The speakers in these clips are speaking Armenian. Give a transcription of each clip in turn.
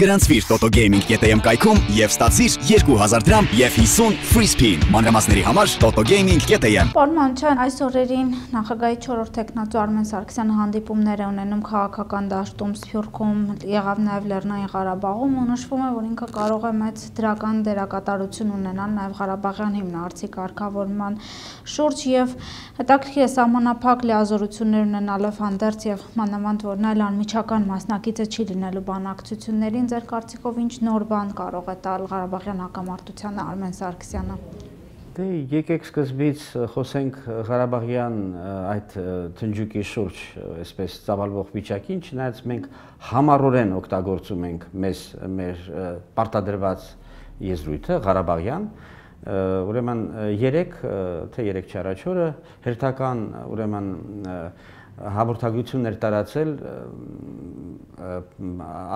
Գրանցվիր totogaming.am կայքում եւ ստացիր 2000 դրամ եւ 50 free spin։ Մանրամասների համար totogaming.am։ Պարոն Մանուկյան, այս օրերին նախագահի 4-րդ տեխնատու Արմեն Սարգսյանը հանդիպումներ է ունենում քաղաքական դաշտում, Սփյուռքում, եղավ նաեւ Լեռնային Ղարաբաղում, ու նշվում է, որ ինքը կարող է մեծ դրական դերակատարություն ունենալ նաեւ Ղարաբաղյան հիմնարարցի կարգավորման շուրջ եւ հետաքրքիր է սահմանափակ լիազորություններ ունենալով հանդերձ եւ մանավանդ որ նա անմիջական մասնակիցը չի լինելու բանակցություններին, ձեր կարծիքով ինչ նոր բան կարող է տալ Ղարաբաղյան հակամարտությանը Արմեն Սարգսյանը։ Դե եկեք սկզբից խոսենք Ղարաբաղյան այդ թնջուկի շուրջ, այսպես ծավալվող վիճակին, չնայած մենք համառորեն օգտագործում ենք մեր պարտադրված եզրույթը Ղարաբաղյան, ուրեմն 3 չառաջ օրը հերթական ուրեմն հաղորդագրություններ տարածել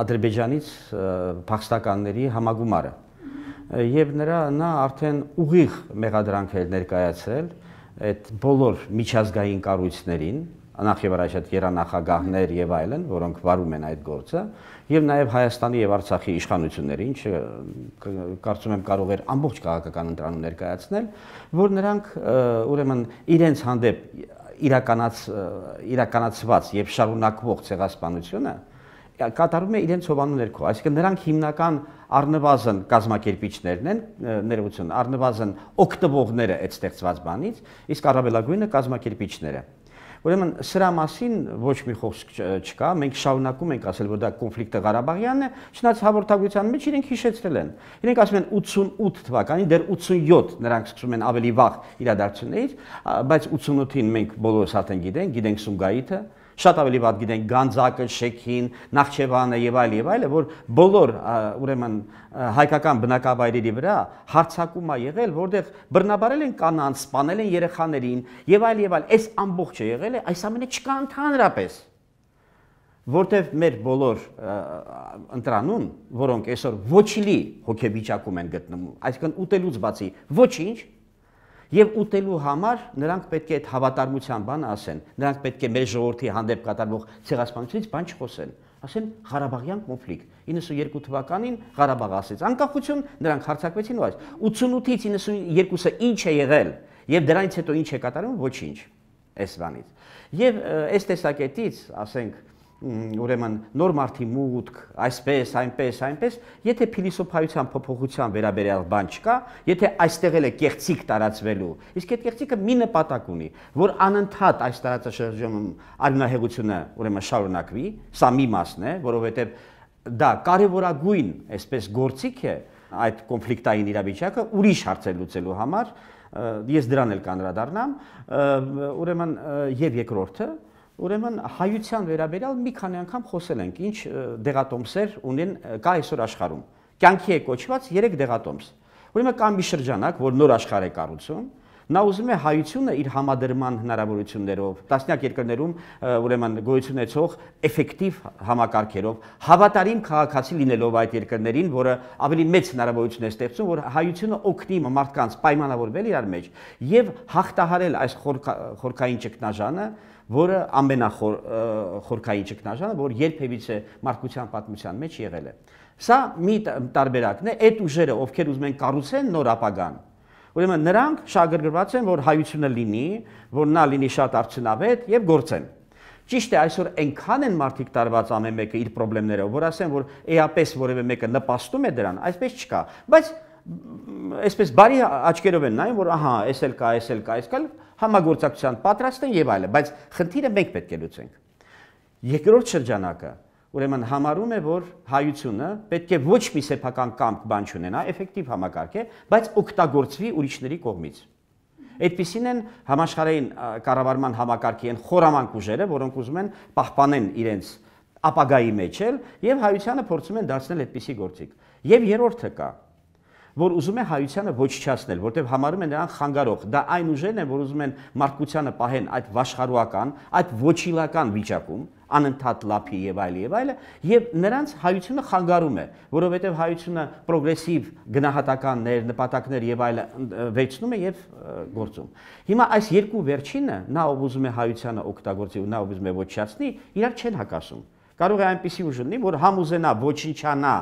Ադրբեջանից փախստականների համագումարը եւ նա արդեն ուղիղ մեղադրանք էր ներկայացրել այդ բոլոր միջազգային կառույցներին, նախ եւ առաջ այդ երանախագահներ եւ այլն, որոնք վարում են այդ գործը, եւ նաեւ Հայաստանի եւ Արցախի իշխանությունների, ինչը կարծում եմ կարող էր ամբողջ քաղաքական ընտրանում ներկայացնել, որ նրանք ուրեմն իրենց հանդեպ իրականացված եւ շարունակվող ցեղասպանությունը կատարում է իրենց հովանու ներքո, այսինքն նրանք հիմնական առնվազն կազմակերպիչներն են, ներողություն, առնվազն օգտվողները այդ ստեղծված բանից, իսկ առավելագույնը կազմակերպիչները։ Ուրեմն սրա մասին ոչ մի խոսք չկա, մենք շարունակում ենք ասել, որ դա կոնֆլիկտը Ղարաբաղյանն է, չնայած հաղորդագրության մեջ իրենք հիշեցրել են։ Իրենք ասում են 88 թվականին, դեռ 87 նրանք սկսում են ավելի վաղ իրադարձություններից, բայց 88-ին մենք բոլորս արդեն գիտենք Սումգայիթը, շատ ավելի վատ գիտենք Գանձակը, Շեքին, Նախճեվանը եւ այլը, որ բոլոր ուրեմն հայկական բնակավայրերի վրա հարձակում է եղել, որտեղ բռնաբարել են կանանց, սպանել են երեխաներին եւ այլ, այս ամբողջը եղել է, այս ամենը չկա ընդհանրապես, որտեղ մեր բոլոր ընտրանուն, որոնք այսօր ոչինչ հոգեվիճակում են գտնվում, այսինքն ուտելուց բացի ոչինչ, եւ ուտելու համար նրանք պետք է այդ հավատարմության բանը ասեն, նրանք պետք է մեր ժողովրդի հանդեպ կատարվող ցեղասպանությունից բան չխոսեն, ասեն Ղարաբաղյան կոնֆլիկտ։ 92 թվականին Ղարաբաղը ասեց անկախություն, նրանք հարձակվեցին ու այս 88-ից 92-ը ինչ է եղել եւ դրանից հետո ինչ է կատարվում, ոչինչ այս բանից։ Եվ այս տեսակետից, ասենք, ուրեմն նոր մարդի մուտք, այսպես, այնպես, եթե փիլիսոփայության փոփոխության վերաբերյալ բան չկա, եթե այստեղ էլ է կեղծիք տարածվելու, իսկ այդ կեղծիքը մի նպատակ ունի, որ անընդհատ այս տարածաշրջանում արյունահեղությունը ուրեմն շարունակվի, սա մի մասն է, որովհետև դա կարևորագույն այսպես գործիք է այդ կոնֆլիկտային իրավիճակը ուրիշ հարցեր լուծելու համար, ես դրան էլ կանդրադառնամ, ուրեմն եւ երկրորդը Ուրեմն հայության վերաբերյալ մի քանի անգամ խոսել ենք, ինչ դեղատոմսեր ունեն կա այսօր աշխարհում։ Կյանքի է կոչված 3 դեղատոմս։ Ուրեմն կա մի շրջանակ, որ նոր աշխարհ է կառուցում, նա ուզում է հայությունը իր համադրման հնարավորություններով, տասնյակ երկրներում ուրեմն գոյություն ունեցող էֆեկտիվ համակարգերով, հավատարիմ քաղաքացի լինելով այդ երկրներին, որը ավելի մեծ հնարավորություն է ստեղծում, որ հայությունը օգնի մարդկանց պայմանավորվել իրար մեջ եւ հաղթահարել այս խորքային ճգնաժանը, որը ամենախորքային ճգնաժանը, որ երբևիցե մարդկության պատմության մեջ եղել է։ Սա մի տարբերակն է, այդ ուժերը, ովքեր ուզում են կառուցեն նոր ապագան, ուրեմն նրանք շահագրգռված են, որ հայությունը լինի, որ նա լինի շատ արդյունավետ եւ գործեն։ Ճիշտ է, այսօր այնքան են մարդիկ տարված ամեն մեկը իր խնդիրներով, որ ասեն, որ էապես որևէ մեկը նպաստում է դրան, այսպես չկա, բայց այսպես բարի աչքերով են նայում, որ ահա, էս էլ կա, համագործակցության պատրաստ են եւ այլն, բայց խնդիրը մենք պետք է լուծենք։ Երկրորդ շրջանակը ուրեմն համարում է, որ հայությունը պետք է ոչ մի սեփական կամք բան չունենա, էֆեկտիվ համակարգ է, բայց օգտագործվի ուրիշների կողմից։ Այդպիսին են համաշխարհային կառավարման համակարգի են խորամանկ ուժերը, որոնք ուզում են պահպանեն իրենց ապագայի մեջ էլ եւ հայությանը փորձում են դարձնել այդպիսի գործիք։ Եվ երրորդը կա, որ ուզում է հայությանը ոչնչացնել, որտեղ համարում են նրան խանգարող։ Դա այն ուժերն են, որ ուզում են մարդկությանը պահեն այդ վաշխառուական, այդ ոչիլական վիճակում, անընդհատ լափի եւ այլը, եւ նրանց հայությունը խանգարում է, որովհետեւ հայությունը պրոգրեսիվ գնահատականներ, նպատակներ եւ այլը վերցնում է եւ գործում։ Հիմա այս երկու վերջինը, նա ով ուզում է հայությանը օգտագործի ու նա ով ուզում է ոչնչացնի, իրար չեն հակասում։ Կարող է այնպիսի ուժ լինի, որ համ ուզենա ոչնչանա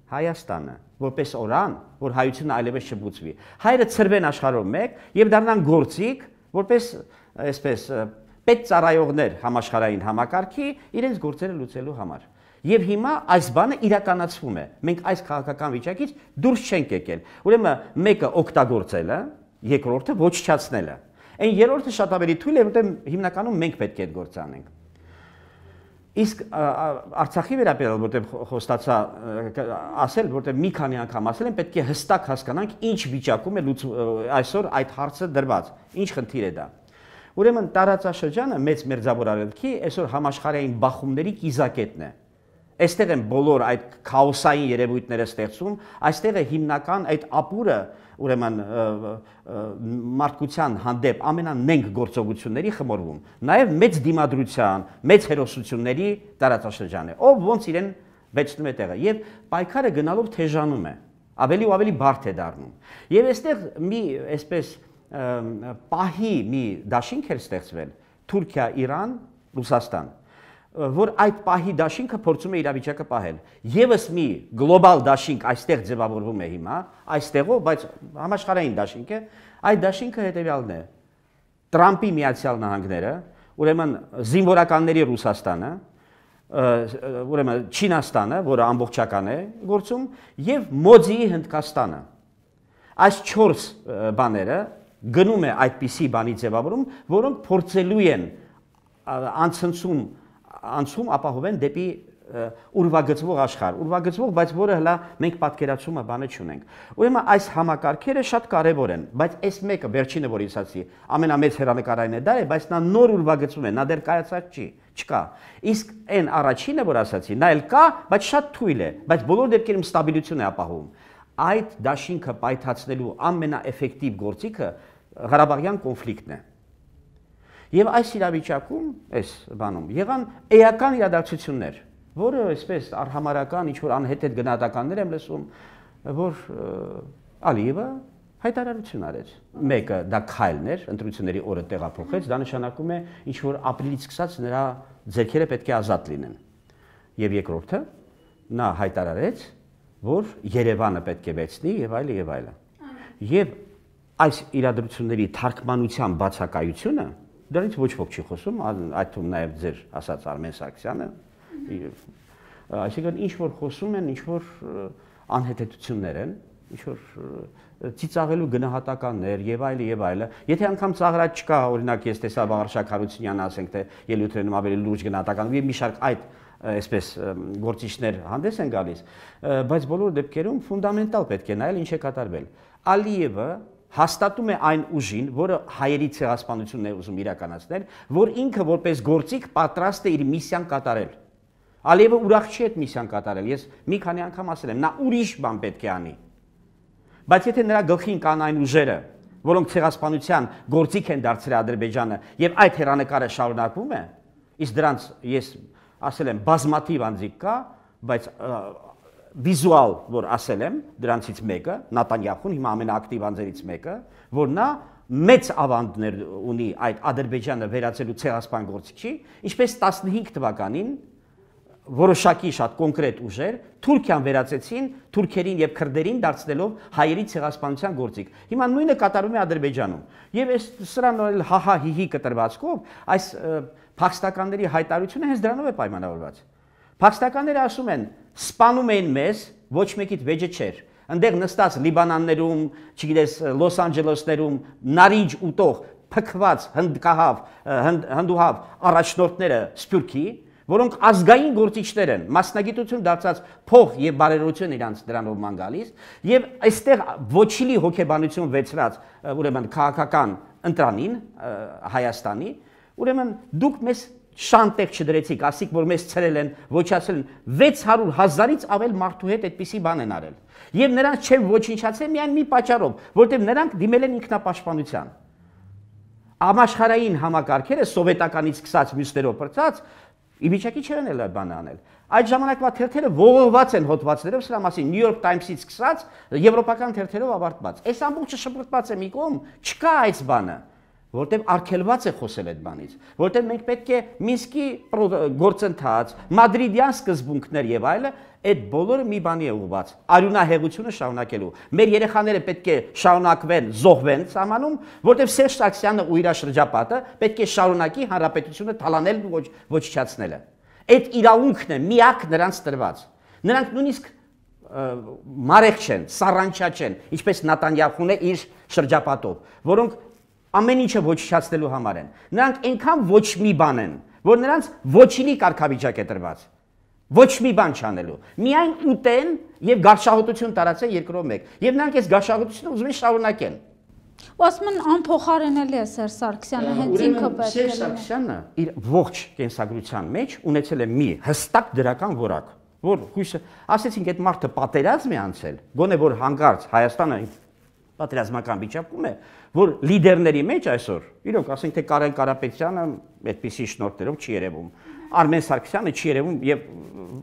Հայաստանը, որպես օրան, որ հայությունը այլևս չբուծվի։ Հայերը ծրվեն աշխարհով մեկ եւ դառնան գործիք, որպես այսպես պետծառայողներ համաշխարհային համակարգի իրենց գործերը լուծելու համար։ Եվ հիմա այս բանը իրականացվում է։ Մենք այս քաղաքական վիճակից դուրս չենք եկել։ Ուրեմն մեկը օգտագործելը, երկրորդը ոչնչացնելը։ Այն երրորդը շատ ավելի թույլ է, որտեղ հիմնականում մենք պետք է այդ գործը անենք։ Իսկ Արցախի վերաբերյալ, որտեղ խոստացա ասել, որտեղ մի քանի անգամ ասել եմ, պետք է հստակ հասկանանք ինչ վիճակում է այսօր այդ հարցը դրված, ինչ խնդիր է դա։ Ուրեմն տարածաշրջանը մեծ մերձավոր արևելքի այսօր համաշխարհային բախումների կիզակետն է։ Այստեղ են բոլոր այդ քաոսային երևույթները ստեղծում, այստեղ է հիմնական այդ ապուրը, ուրեմն մարդկության հանդեպ ամենանենգ գործողությունների խմորվում, նաև մեծ դիմադրության, մեծ հերոսությունների տարածաշրջան է, ով ոնց իրեն վեցնում է տեղը, եւ պայքարը գնալով թեժանում է, ավելի ու ավելի բարդ է դառնում։ Եվ այստեղ մի այսպես պահի մի դաշինք էր ստեղծվել Թուրքիա, Իրան, Ռուսաստան, որ այդ պահի դաշինքը փորձում է իրավիճակը պահել։ Եվս մի գլոբալ դաշինք այստեղ ձևավորվում է հիմա, այստեղով, բայց համաշխարհային դաշինք է, այդ դաշինքը հետևյալն է. Տրամպի Միացյալ Նահանգները, ուրեմն զինվորականների Ռուսաստանը, ուրեմն Չինաստանը, որը ամբողջական է գործում, եւ Մոդիի Հնդկաստանը։ Այս 4 բաները գնում է այդպիսի բանի ձևավորում, որոնք փորձելու են անցում ապահովեն դեպի ուրվագծվող աշխարհ, ուրվագծվող, բայց որը հլա մենք պատկերացումը բանը չունենք։ Ուրեմն այս համակարգերը շատ կարևոր են, բայց այս մեկը վերջինը որ ես ասացի, ամենամեծ հեռանկարային է դա է, բայց նա նոր ուրվագծում է, նա դեռ կայացած չկա։ Իսկ այն առաջինը որ ասացի, նա էլ կա, բայց շատ թույլ է, բայց բոլոր դեպքերում ստաբիլություն է ապահովում։ Այդ դաշինքը պայթացնելու ամենաէֆեկտիվ գործիքը Ղարաբաղյան կոնֆլիկտն է։ Եվ այս իրավիճակում, այս բանում, եղան էական իրադարձություններ, որը այսպես արհամարական ինչ-որ անհետ գնահատականներ եմ լսում, որ Ալիևը հայտարարություն արեց։ Մեկը դա քայլն էր, ընտրությունների օրը տեղափոխեց, դա նշանակում է ինչ-որ ապրիլից սկսած նրա ձեռքերը պետք է ազատ լինեն։ Եվ երկրորդը նա հայտարարեց, որ Երևանը պետք է վերցնի եւ այլը եւ այլը։ Եվ այս իրադրությունների թարգմանության բացակայությունը դրանից ոչ ոք չի խոսում, այդ թվում նաև ձեր ասած Արմեն Սարգսյանը, այսինքն ինչ որ խոսում են, ինչ որ անհետեցություններ են, ինչ որ ծիծաղելու գնահատականներ եւ այլը, եթե անգամ ծաղրած չկա, օրինակ ես տեսա Վաղարշակ Հարությունյանը, ասենք թե ելույթներում ավելի լուրջ գնահատական եւ մի շարք այդ այսպես գործիչներ հանդես են գալիս, բայց բոլոր դեպքերում ֆունդամենտալ պետք է նայել ինչ է կատարվել։ Ալիևը հաստատում է այն ուժին, որը հայերի ցեղասպանությունն է ուզում իրականացնել, որ ինքը որպես գործիք պատրաստ է իր միսիան կատարել։ Ալիևը ուրախ չի այդ միսիան կատարել։ Ես մի քանի անգամ ասել եմ, նա ուրիշ բան պետք է անի։ Բայց եթե նրա գլխին կան այն ուժերը, որոնք ցեղասպանության գործիք են դարձրել Ադրբեջանը, եւ այդ հերանեկարը շարունակվում է, իսկ դրանց ես ասել եմ բազմաթիվ անձիկ կա, բայց վիզուալ, որ ասել եմ, դրանցից մեկը, Նատանյախուն, հիմա ամենաակտիվ անձերից մեկը, որ նա մեծ ավանդներ ունի այդ Ադրբեջանը վերածելու ցեղասպան գործիքի, ինչպես 15 թվականին որոշակի շատ կոնկրետ ուժեր Թուրքիան վերածեցին թուրքերին եւ քրդերին դարձնելով հայերի ցեղասպանության գործիք։ Հիմա նույնը կատարվում է Ադրբեջանում։ Եվ այս սրան հահա հիհի կտրվածքով այս փախստականների հայտարարությունը հենց դրանով է պայմանավորված։ Փախստականները ասում են, սպանում են մեզ, ոչ մեկիդ վեճը չէր։ Այնտեղ նստած Լիբանաններում, չգիտես, Լոս Անջելեսներում նարինջ ուտող փքված հնդուհավ առաջնորդները Սփյուռքի, որոնք ազգային գործիչներ են, մասնագիտություն դարձած փող եւ բարերարություն իրանց դրանով ման գալիս, եւ այստեղ ոչիլի հոգեբանություն վեցրած, ուրեմն քաղաքական ընտրանին Հայաստանի, ուրեմն դուք մեզ շանտեղ չդրեցիք, ասիք, որ մեզ ցրել են, ոչացել են, 600,000-ից ավել մարդու հետ այդպիսի բան են արել։ Եվ նրանց չեն ոչնչացել միայն մի պատճառով, որտեղ նրանք դիմել են ինքնապաշտպանության։ Համաշխարհային համակարգերը սովետականից սկսած մյուսներով բրծած իվիճակի չեն էլ բան անել։ Այդ ժամանակվա թերթերը ողողված են հոդվածներով, սրա մասին New York Times-ից սկսած եվրոպական թերթերով ավարտված։ Այս ամբողջը շփոթված է մի կողմ, չկա այս բանը, որտեղ արգելված է խոսել այդ բանից, որտեղ մենք պետք է Մինսկի գործընթաց, մադրիդյան սկզբունքներ եւ այլը, այդ բոլորը մի բանի է ուղղված, արյունահեղությունը շարունակելու։ Մեր երեխաները պետք է շարունակվեն, զոհվեն սահմանում, որտեղ Սերժ Սարգսյանը ու իր շրջապատը պետք է շարունակի հանրապետությունը թալանել ու ոչնչացնելը։ Այդ իրավունքն է միակ նրանց տրված։ Նրանք նույնիսկ մարեղ չեն, սառանչա չեն, ինչպես Նատանյախուն է իր շրջապատով, որոնք ամեն ինչը ոչնչացնելու համար են։ Նրանք այնքան ոչ մի բան են, որ նրանց ոչինի կարգավիճակ է տրված։ Ոչ մի բան չանելու։ Միայն ուտեն եւ գարշահոտություն տարածեն երկրով մեկ։ Եվ նրանք այս գարշահոտությունը ուզում են շարունակեն։ Ու ասում են անփոխարինելի է Սերժ Սարգսյանը, հենց ինքը պետք է։ Սերժ Սարգսյանը իր ողջ կենսագրության մեջ ունեցել է մի հստակ դրական որակ, որ հույսը, ասեցինք, այդ մարդը պատերազմ է անցել, գոնե որ հանկարծ Հայաստանը պատերազմական վիճակում է, որ լիդերների մեջ այսօր, իրոք, ասենք թե Կարեն Կարապետյանը այդպիսի շնորհներով չի երևում, Արմեն Սարգսյանը չի երևում եւ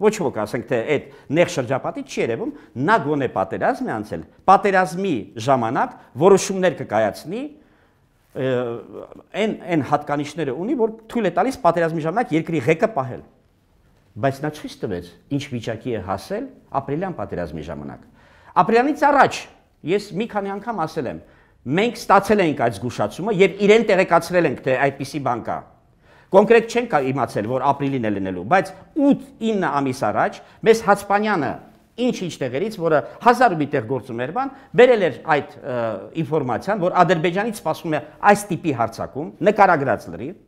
ոչ ոք, ասենք թե այդ նեղ շրջապատից չի երևում, նա գոնե պատերազմ է անցել, պատերազմի ժամանակ որոշումներ կկայացնի, այն հատկանիշները ունի, որ թույլ է տալիս պատերազմի ժամանակ երկրի ղեկը պահել։ Բայց նա ցույց տվեց, ինչ վիճակի է հասել ապրիլյան պատերազմի ժամանակ։ Ապրիլյանից առաջ ես մի քանի անգամ ասել եմ, մենք ստացել ենք այդ զգուշացումը եւ իրեն տեղեկացրել ենք, թե այդպիսի բան կա։ Կոնկրետ չենք իմացել, որ ապրիլին է լինելու, բայց 8-9 ամիս առաջ մեզ Հացպանյանը ինչ տեղերից, որը 1000 մի տեղ գործում էր բան, բերել էր այդ ինֆորմացիան, որ Ադրբեջանից սպասվում է այս տիպի հարձակում, նկարագրած լրիվ,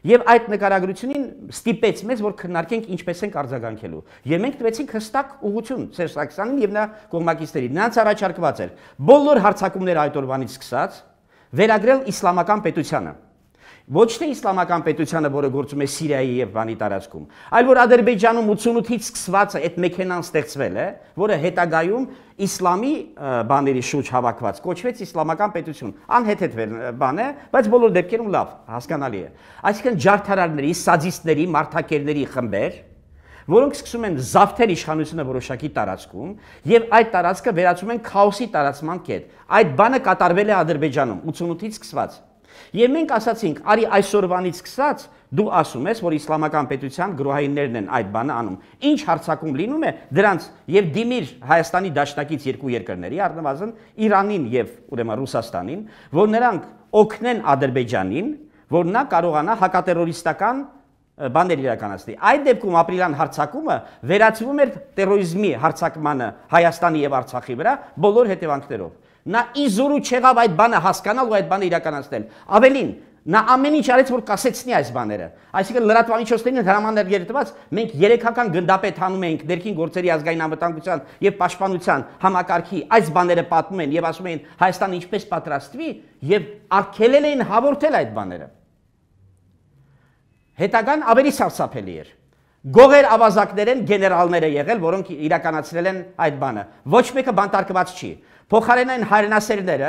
եւ այդ նկարագրությունին ստիպեց մեզ, որ քննարկենք ինչպես ենք արձագանքելու։ Եվ մենք տվեցինք հստակ ուղղություն Սերժ Սարգսյանին եւ նրա կողմնակիցներին։ Նրանց առաջարկված էր բոլոր հարձակումները այդ օրվանից սկսած վերագրել իսլամական պետությանը։ Ոչ թե իսլամական պետությանը, որը գործում է Սիրիայի եւ բանի տարածքում, այլ որ Ադրբեջանում 88-ից սկսված այդ մեքենան ստեղծվել է, որը հետագայում իսլամի բաների շուրջ հավաքված կոչվեց իսլամական պետություն։ Անհեթեթ բան է, բայց բոլոր դեպքերում լավ, հասկանալի է։ Այսինքն ջարդարարների, սադիստների, մարդակերների խմբեր, որոնք սկսում են զավթել իշխանությունը որոշակի տարածքում եւ այդ տարածքը վերածում են քաոսի տարածման կետ։ Այդ բանը կատարվել է Ադրբեջանում 88-ից սկսված։ Եվ մենք ասացինք, արի այսօրվանից սկսած դու ասում ես, որ իսլամական պետության գրոհայիններն են այդ բանը անում։ Ինչ հարձակում լինում է դրանց եւ դիմիր Հայաստանի դաշնակից երկու երկրների, առնվազն Իրանին եւ ուրեմն Ռուսաստանին, որ նրանք օգնեն Ադրբեջանին, որ նա կարողանա հակատերորիստական բաներ իրականացնի։ Այդ դեպքում ապրիլյան հարձակումը վերածվում էր տերորիզմի հարձակմանը Հայաստանի եւ Արցախի վրա բոլոր հետևանքներով։ Նա իզորու չեղավ այդ բանը հասկանալ ու այդ բանը իրականացնել։ Ավելին, նա ամեն ինչ արեց, որ կասեցնի այս բաները։ Այսինքն լրատվամիջոցներին հրամաններ երթված, մենք 3-ական գնդապետ հանում էինք ներքին գործերի ազգային անվտանգության եւ պաշտպանության համակարգի այս բաները պատմում են եւ ասում էին Հայաստանը ինչպես պատրաստվի եւ արգելել էին հաղորդել այդ բաները։ Հետագան ավելի սարսափելի էր։ Գողեր ավազակներ են գեներալները եղել, որոնք իրականացրել են այդ բանը։ Ոչ մեկը բանտարկված չի։ Փոխարենն այն հայրենասերները,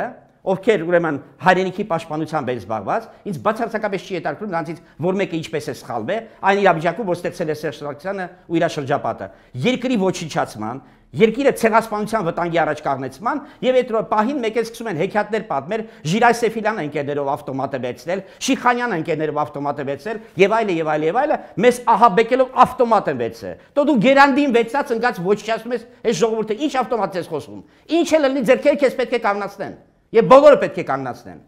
ովքեր ուրեմն հայրենիքի պաշտպանությամբ են զբաղված, ինձ բացարձակապես չի հետաքրքրում նրանցից որ մեկը ինչպես է սխալվել, այն իրավիճակում, որ ստեղծել է Սերժ Սարգսյանը ու իր շրջապատը։ Երկրի ոչնչացման, երկիրը ցեղասպանության վտանգի առաջ կանգնեցման եւ այդ պահին մեկ էլ սկսում են հեքիաթներ պատմել, Ժիրայ Սեֆիլյանը ընկերներով ավտոմատը վերցնել, Շիխանյանը ընկերներով ավտոմատը վերցնել եւ այլը եւ այլը եւ այլը, մեզ ահաբեկելով ավտոմատը վերցե։ Դու դու գերանդին վերցած ընկած ոչնչացնում ես այս ժողովուրդը, ինչ ավտոմատ ես խոսում։ Ինչ էլ լինի ձերքերը քեզ պետք է կանգնացնեն եւ բոլորը պետք է կանգնացնեն։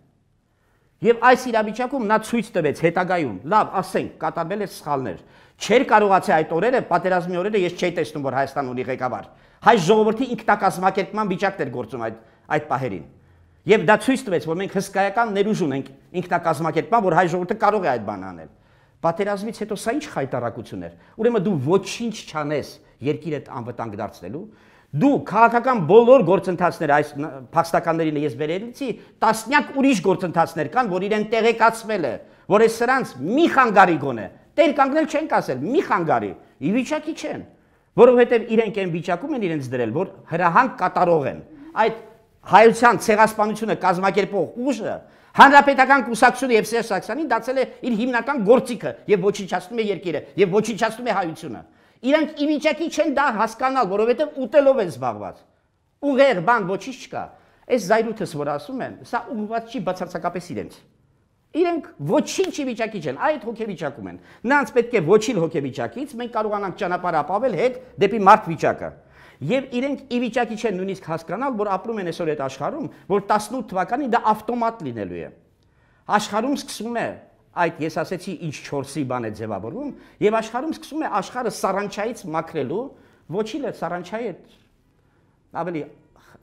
Եվ այս իրավիճակում նա ցույց տվեց հետագայում, լավ, ասենք, կատարվել էր սխալներ։ Չէր կարողացել այդ օրերը, պատերազմի օրերը ես չէի տեսնում, որ Հայաստան ունի ղեկավար։ Հայ ժողովրդի ինքնակազմակերպման վիճակն էր գործում այդ պահերին։ Եվ դա ցույց տվեց, որ մենք հսկայական ներուժ ունենք ինքնակազմակերպման, որ հայ ժողովուրդը կարող է այդ բանը անել։ Պատերազմից հետո սա ինչ խայտարակություն էր։ Ուրեմն դու ոչինչ չանես երկիրդ անվտանգ դարձնելու, դու քաղաքական բոլոր գործընթացները այս փախստականներին ես վերելիցի, տասնյակ ուրիշ գործընթացներ կան, որ իրեն տեղեկացվել է, որ այս սրանց մի խանգարի գոնե, տեր կանգնել չենք ասել, մի խանգարի, ի վիճակի չեն, որովհետև իրենք այն վիճակում են իրենց դրել, որ հրահանգ կատարող են։ Այդ հայության ցեղասպանությունը կազմակերպող ուժը հանրապետական կուսակցությունը եւ Սերժ Սարգսյանին դարձել է իր հիմնական գործիքը եւ ոչնչացնում է երկիրը եւ ոչնչացնում է հայությունը։ Իրանք ի վիճակի չեն դա հասկանալ, որովհետև ուտելով են զբաղված։ Ուղեր բան ոչինչ չկա։ Այս զայրույթս, որ ասում են, սա ուղղված չի բացարձակապես իրենց։ Իրենք ոչինչ վիճակի չեն, այդ հոգեվիճակում են։ Նրանց պետք է ոչինչ հոգեվիճակից մենք կարողանանք ճանապարհ ապավել հետ դեպի մարդ վիճակը։ Եվ իրենք ի վիճակի չեն նույնիսկ հասկանալ, որ ապրում են այսօր այդ աշխարհում, որ 18 թվականին դա ավտոմատ լինելու է։ Աշխարհում սկսում է այդ ես ասեցի ինչ 4-ի բան է ձևավորվում, եւ աշխարհում սկսում է աշխարհը սարանչայից մաքրելու, ոչինչ սարանչայի ավելի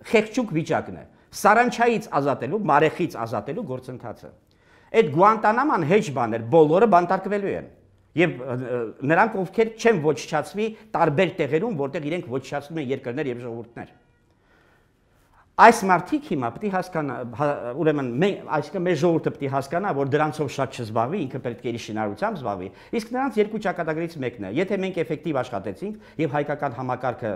խեղճուկ վիճակն է։ Սարանչայից ազատելու, մարեխից ազատելու գործընթացը։ Այդ Գուանտանաման հեչ բաներ, բոլորը բանտարկվելու են։ Եվ նրանք ովքեր չեն ոչնչացվի տարբեր տեղերում, որտեղ իրենք ոչնչացնում են երկրներ եւ ժողովուրդներ։ Այս մարդիկ հիմա պետք է հասկանա, ուրեմն այսինքն մեր ժողովուրդը պետք է հասկանա, որ դրանցով շատ չզբաղվի, ինքը պետք է իր շինարարությամբ զբաղվի։ Իսկ նրանց երկու ճակատագրից մեկն է։ Եթե մենք էֆեկտիվ աշխատեցինք եւ հայկական համակարգը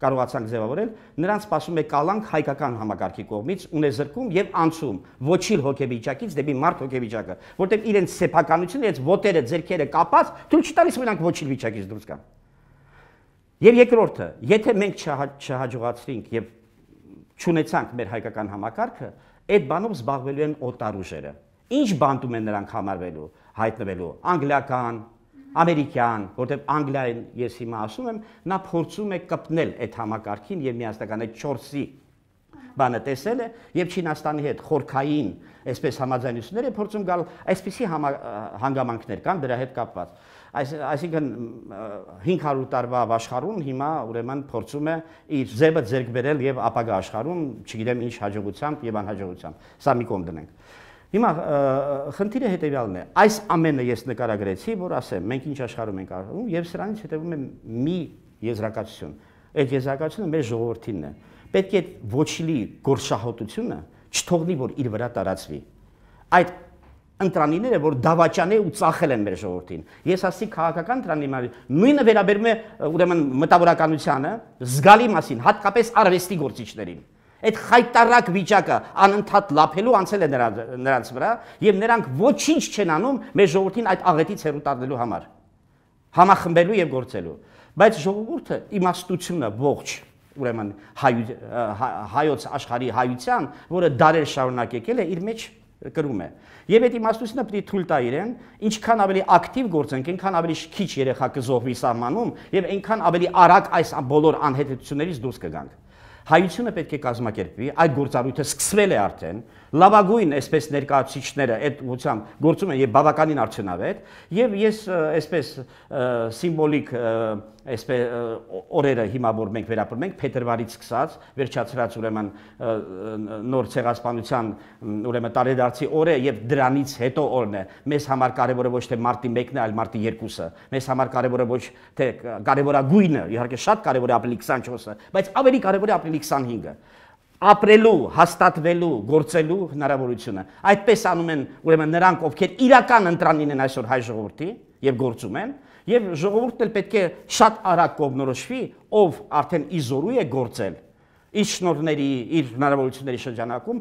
կարողացանք ձևավորել, նրանց սպասում է կալանք հայկական համակարգի կողմից ունեզրկում եւ անցում ոչինչ հոգեվիճակից դեպի մարդ հոգեվիճակը, որտեղ իրենց սեփականությունը, իրենց ոտերը, ձեռքերը կապած, թույլ չտալիս որ նրանք ոչինչ վիճակից դուրս գան։ Եվ երկրորդը, եթե մենք չհաջողացրինք եւ չունեցանք մեր հայկական համակարգը, այդ բանով զբաղվելու են օտար ուժերը։ Ինչ բանտում են նրանք համարվելու, հայտնվելու, անգլիական, ամերիկյան, որտեղ Անգլիային ես հիմա ասում եմ, նա փորձում է կպնել այդ համակարգին եւ միասնական այդ 4-ի բանը տեսել է եւ Չինաստանի հետ խորքային այսպես համաձայնություններ է փորձում գալ, այսպիսի հանգամանքներ կան դրա հետ կապված։ Այսինքն 500 տարվա աշխարհում հիմա ուրեմն փորձում է իր ձևը ձեռք բերել եւ ապագա աշխարհում, չգիտեմ ինչ հաջողությամբ եւ անհաջողությամբ։ Սա մի կողմ դնենք։ Հիմա խնդիրը հետևյալն է, այս ամենը ես նկարագրեցի, որ ասեմ, մենք ինչ աշխարհում ենք ապրում եւ սրանից հետևում է մի եզրակացություն։ Այդ եզրակացությունը մեր ժողովրդինն է։ Պետք է ոչինչ գործշահոտությունը չթողնի, որ իր վրա տարածվի։ Այդ ընտրանիները, որ դավաճան է ու ծախել են մեր ժողովրդին։ Ես ասի քաղաքական ընտրանիները նույնը վերաբերում է ուրեմն մտավորականությանը, զգալի մասին, հատկապես արվեստի գործիչներին։ Այդ խայտարակ վիճակը անընդհատ լափելու անցել է նրանց վրա եւ նրանք ոչինչ չեն անում մեր ժողովրդին այդ աղետից հեռու տանելու համար, համախմբելու եւ գործելու։ Բայց ժողովուրդը իմաստությունը ողջ, ուրեմն հայոց աշխարհի հայության, որը դարեր շարունակ եկել է, իր մեջ կրում է։ Եվ այդ իմաստությունը պետք է թույլ տա իրեն, ինչքան ավելի ակտիվ գործենք, այնքան ավելի քիչ երեխա կզոհվի սահմանում եւ այնքան ավելի արագ այս բոլոր անհետություններից դուրս կգանք։ Հայությունը պետք է կազմակերպվի, այդ գործառույթը սկսվել է արդեն, լավագույն այսպես ներկայացուցիչները այդ ուղղությամբ գործում են եւ բավականին արդյունավետ, եւ ես այսպես սիմվոլիկ այսպես օրերը հիմա որ մենք վերապրում ենք փետրվարից սկսած, վերջացրած ուրեմն նոր ցեղասպանության ուրեմն տարեդարձի օրը եւ դրանից հետո օրն է։ Մեզ համար կարեւորը ոչ թե մարտի 1-ն է, այլ մարտի 2-ը։ Մեզ համար կարեւորը ոչ թե կարեւորագույնը, իհարկե շատ կարեւոր է ապրիլի 24-ը, բայց ավելի կարեւոր է ապրիլի 25-ը։ Ապրելու, հաստատվելու, գործելու հնարավորությունը։ Այդպես անում են ուրեմն նրանք, ովքեր իրական ընտրանին են այսօր հայ ժողովրդի եւ գործում են, եւ ժողովուրդն էլ պետք է շատ արագ կողմնորոշվի, ով արդեն իզորու է գործել իր շնորհների, իր հնարավորությունների շրջանակում,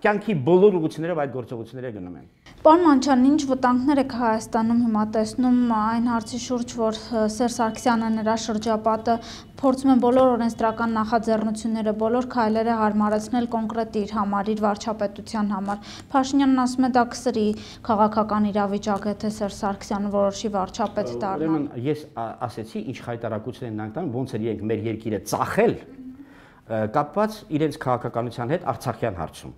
կյանքի բոլոր ուղղություններով այդ գործողությունները գնում են։ Պարոն Մանչյան, ինչ վտանգներ եք Հայաստանում հիմա տեսնում այն հարցի շուրջ, որ Սերժ Սարգսյանը նրա շրջապատը փորձում են բոլոր օրենսդրական նախաձեռնությունները, բոլոր քայլերը հարմարեցնել կոնկրետ իր համար, իր վարչապետության համար։ Փաշինյանն ասում է դա կսրի քաղաքական իրավիճակը, թե Սերժ Սարգսյանը որոշի վարչապետ դառնա։ Ուրեմն ես ասեցի, ինչ խայտարակություն են նրանք տանում, ոնց էր իրենք մեր երկիրը ծախել, կապված իրենց քաղաքականության հետ Արցախյան հարցում։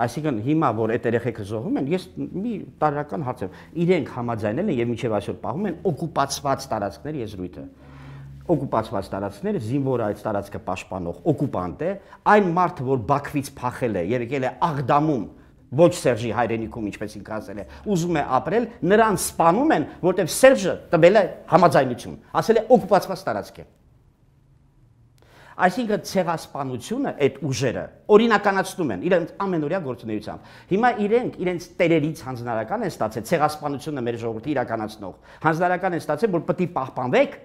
Այսինքն հիմա որ այդ երեխեքը զոհում են, ես մի տարրական հարց եմ, իրենք համաձայնել են եւ մինչեւ այսօր պահում են օկուպացված տարածքների եզրույթը։ Օկուպացված տարածքները զինվոր այդ տարածքը պաշտպանող օկուպանտ է, այն մարդը, որ Բաքվից փախել է եւ եկել է Աղդամում, ոչ Սերժի հայրենիքում, ինչպես ինքը ասել է, ուզում է ապրել, նրան սպանում են, որտեղ Սերժը տվել է համաձայնություն, ասել է օկուպացված տարածք է։ Այսինքն ցեղասպանությունը այդ ուժերը օրինականացնում են իրենց ամենօրյա գործունեությամբ։ Հիմա իրենց տերերից հանձնարարական են ստացել ցեղասպանությունը մեր ժողովրդի իրականացնող։ Հանձնարարական են ստացել, որ պետք է պահպանվեք,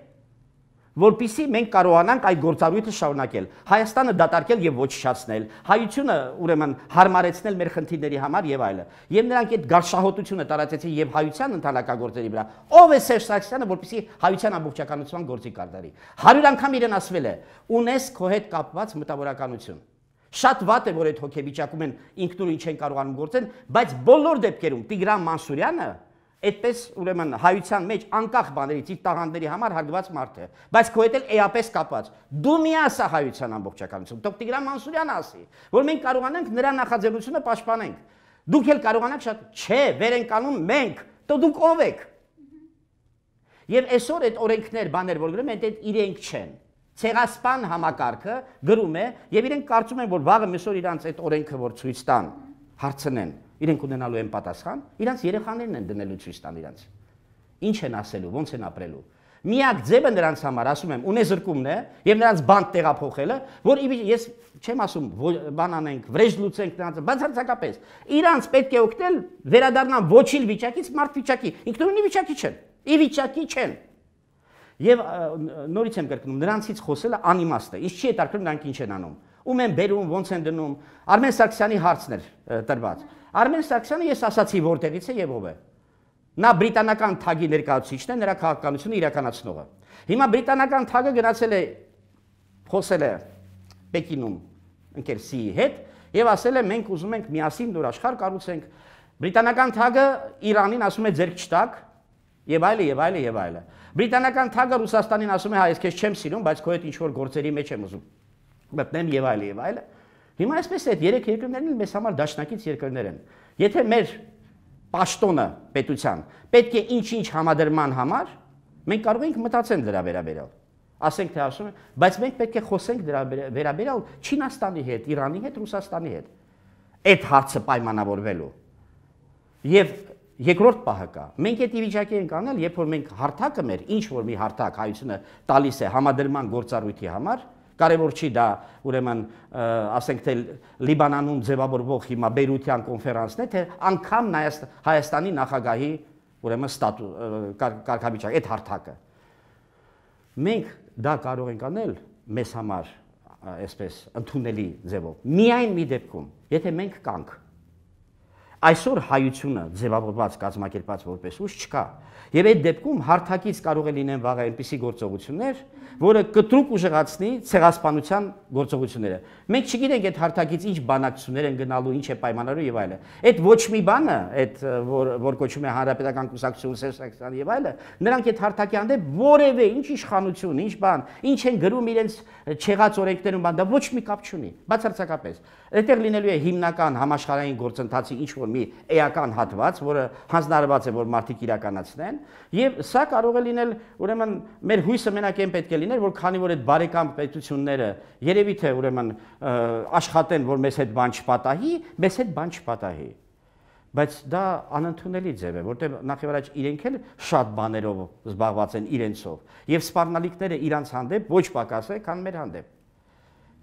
որպեսզի մենք կարողանանք այդ գործառույթը շարունակել, Հայաստանը դատարկել եւ ոչնչացնել, հայությունը ուրեմն հարմարեցնել մեր խնդիրների համար եւ այլը։ Եվ նրանք այդ գարշահոտությունը տարածեցին եւ հայության ընտանեկագործերի վրա։ Ով է Սերժ Սարգսյանը, որպեսզի հայության ամբողջականության գործի կատարի։ 100 անգամ իրեն ասվել է. ունես քո հետ կապված մտավորականություն։ Շատ վատ է, որ այդ հոգեվիճակում են ինքնուրույն չեն կարողանում գործեն, բայց բոլոր դեպքերում Տիգրան Մանսուրյանը այդպես ուրեմն հայության մեջ անկախ բաներից իր տաղանդների համար հարգված մարդ է, բայց քո հետ էլ էապես կապված։ Դու մի ասա հայության ամբողջականություն, թող Տիգրան Մանսուրյանը ասի, որ մենք կարողանանք նրա նախաձեռնությունը պաշտպանենք։ Դուք էլ կարողանաք շատ, չէ, վեր ենք անում մենք, դու դուք ով եք։ Եվ այսօր այդ օրենքներ, բաներ, որ գրում են, այդ իրենք չեն։ Ցեղասպան համակարգը գրում է եւ իրենք կարծում են, որ վաղը միսօր իրանց այդ օրենքը որ ցույց տան, հարցնեն, իրենք ունենալու են պատասխան, իրանց երեխաներն են դնելու ցույց տան իրանց։ Ինչ են ասելու, ոնց են ապրելու։ Միակ ձևը նրանց համար, ասում եմ, ունեզրկումն է եւ նրանց բանտ տեղափոխելը, որ ես չեմ ասում, բան անենք, վրեժ լուծենք նրանց, բացարձակապես։ Իրանց պետք է օգնել վերադառնան ոչիլ վիճակից մարդ վիճակի, ինքնուրույն վիճակի չեն, ի վիճակի չեն։ Եվ նորից եմ կրկնում, նրանցից խոսելը անիմաստ է։ Ինչ չի հետաքրքրում նրանք ինչ են անում։ Ում են բերում, ոնց են դնում։ Արմեն Սարգսյանի հարցն էր տրված։ Արմեն Սարգսյանը ես ասացի որտեղից է եւ ով է։ Նա բրիտանական թագի ներկայացուցիչն է, նրա քաղաքականությունը իրականացնողը։ Հիմա բրիտանական թագը գնացել է խոսել է Պեկինում ընկեր Սիի հետ եւ ասել է մենք ուզում ենք միասին նոր աշխարհ կառուցենք։ Բրիտանական թագը Իրանին ասում է ձերք չտակ եւ այլը եւ այլը եւ այլը։ Բրիտանական թագը Ռուսաստանին ասում է հա ես քեզ չեմ սիրում, բայց քո հետ ինչ որ գործերի մեջ եմ ուզում մտնեմ եւ այլը եւ այլը։ Հիմա այսպես է, այդ երեք երկրներն մեզ համար դաշնակից երկրներ են։ Եթե մեր պաշտոնը պետության պետք է ինչ-ինչ համադրման համար, մենք կարող ենք մտածել դրա վերաբերյալ։ Ասենք թե ասում են, բայց մենք պետք է խոսենք դրա վերաբերյալ Չինաստանի հետ, Իրանի հետ, Ռուսաստանի հետ։ Այդ հարցը պայմանավորվելու։ Եվ երկրորդ պահը կա։ Մենք այդ վիճակի ենք անել, երբ որ մենք հարթակը մեր, ինչ որ մի հարթակ հայությունը տալիս է համադրման գործառույթի համար, կարևոր չի դա ուրեմն ասենք թե Լիբանանում ձևավորվող հիմա Բեյրության կոնֆերանսն է, թե անգամ Հայաստանի նախագահի ուրեմն կարգավիճակ, այդ հարթակը։ Մենք դա կարող ենք անել մեզ համար այսպես ընդունելի ձևով։ Միայն մի դեպքում, եթե մենք կանք այսօր հայությունը ձևավորված կազմակերպած որպես ուժ չկա։ Եվ այդ դեպքում հարթակից կարող է լինեն վաղ այնպիսի գործողություններ, որը կտրուկ ուժեղացնի ցեղասպանության գործողությունները։ Մենք չգիտենք այդ հարթակից ինչ բանակցություններ են գնալու, ինչ է պայմանավորվում եւ այլը։ Այդ ոչ մի բանը, այդ որ կոչվում է Հանրապետական կուսակցություն, Սերժ Սարգսյան եւ այլը, նրանք այդ հարթակի հանդեպ որևէ ինչ իշխանություն, ինչ բան, ինչ են գրում իրենց չեղած օրենքներում, բան, դա ոչ մի կապ չունի, բացարձակապես։ Այդտեղ լինելու է հիմնական համաշխարհային գործընթացի ինչ որ մի էական հատված, որը հանձնարարված է, որ մարդիկ իրականացնեն, եւ սա կարող է լինել, ուրեմն մեր հույսը մենակ այն պետք է լիներ, որ քանի որ այդ բարեկամ պետությունները երևի թե ուրեմն աշխատեն, որ մեզ հետ բան չպատահի, մեզ հետ բան չպատահի։ Բայց դա անընդունելի ձև է, որտեղ նախևառաջ իրենք էլ շատ բաներով զբաղված են իրենցով, եւ սպառնալիքները իրանց հանդեպ ոչ պակաս է, քան մեր հանդեպ։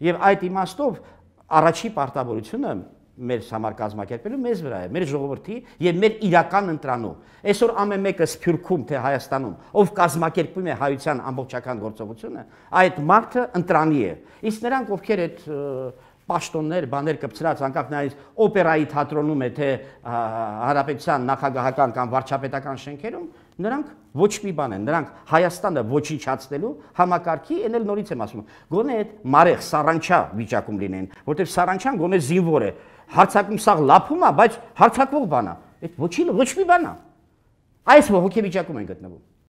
Եվ այդ իմաստով առաջի պարտավորությունը մեր համար կազմակերպելու մեզ վրա է, մեր ժողովրդի եւ մեր իրական ընտրանու։ Այսօր ամեն մեկը Սփյուռքում թե Հայաստանում, ով կազմակերպում է հայության ամբողջական գործողությունը, այդ մարդը ընտրանի է։ Իսկ նրանք, ովքեր այդ պաշտոններ, բաներ կպցրած, անկախ նայած օպերայի թատրոնում է թե հանրապետության նախագահական կամ վարչապետական շենքերում, նրանք ոչ մի բան են, նրանք Հայաստանը ոչնչացնելու համակարգի, այն էլ նորից եմ ասում, գոնե այդ մարեղ սարանչա վիճակում լինեն, որտեղ սարանչան գոնե զինվոր է, հարցակում սաղ լափում է, բայց հարցակվող բան է, այդ ոչ մի բան է։ Այս հոգեվիճակում են գտնվում։